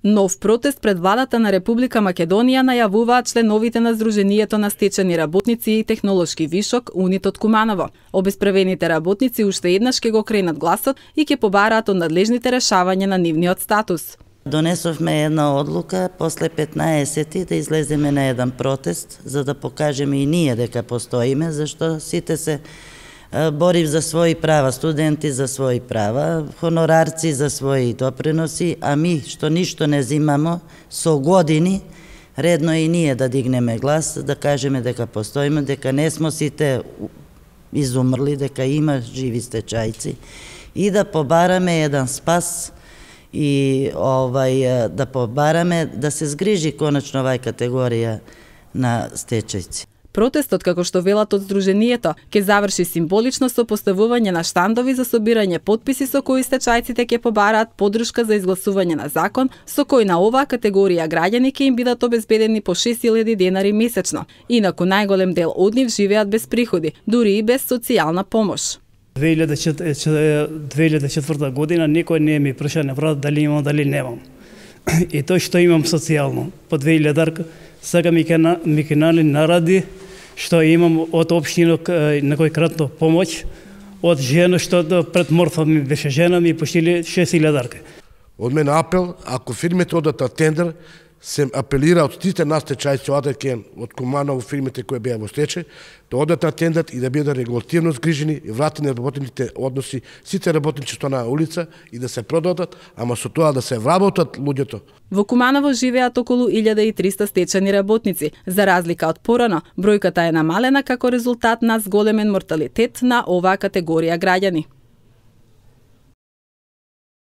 Нов протест пред владата на Република Македонија најавуваат членовите на Сдруженијето на стечени работници и технолошки вишок УНИТ од Куманово. Обесправените работници уште еднаш ќе го кренат гласот и ќе побараат од надлежните решавање на нивниот статус. Донесовме една одлука после 15 да излеземе на еден протест за да покажеме и ние дека постоиме, зашто сите се борив за своји права, студенти за своји права, хонорарци за своји доприноси, а ми што ништо не зимамо со години, редно и ние да дигнеме глас, да кажеме дека постоиме, дека не смо сите изумрли, дека има живи стечајци и да побараме еден спас и да побараме да се згрижи конечно овај категорија на стечајци. Протестот, како што велат од Сдруженијето, ќе заврши символично со поставување на штандови за собирање потписи со кои стечајците ќе побараат поддршка за изгласување на закон со кој на оваа категорија граѓани ќе им бидат обезбедени по 6.000 денари месечно. Инаку најголем дел од нив живеат без приходи, дури и без социјална помош. 2004 година никој не ми праша на врат дали имам, дали немам. И тоа што имам социјално, по 2000 сега ми ке наради што имам од општина некојкратно помоќ од жена што пред мртва ми беше жена ми поштили 6.000. Од мене апел, ако фирмите одат на тендер, се апелира од сите нас стечајци од Куманово фирмите кои беа во стечај, да одат на тендер и да бидат регулативно згрижени и вратени работните односи сите работници што на улица и да се продадат, ама со тоа да се вработат луѓето. Во Куманово живеат околу 1300 стечени работници. За разлика од порано, бројката е намалена како резултат на зголемен морталитет на оваа категорија граѓани.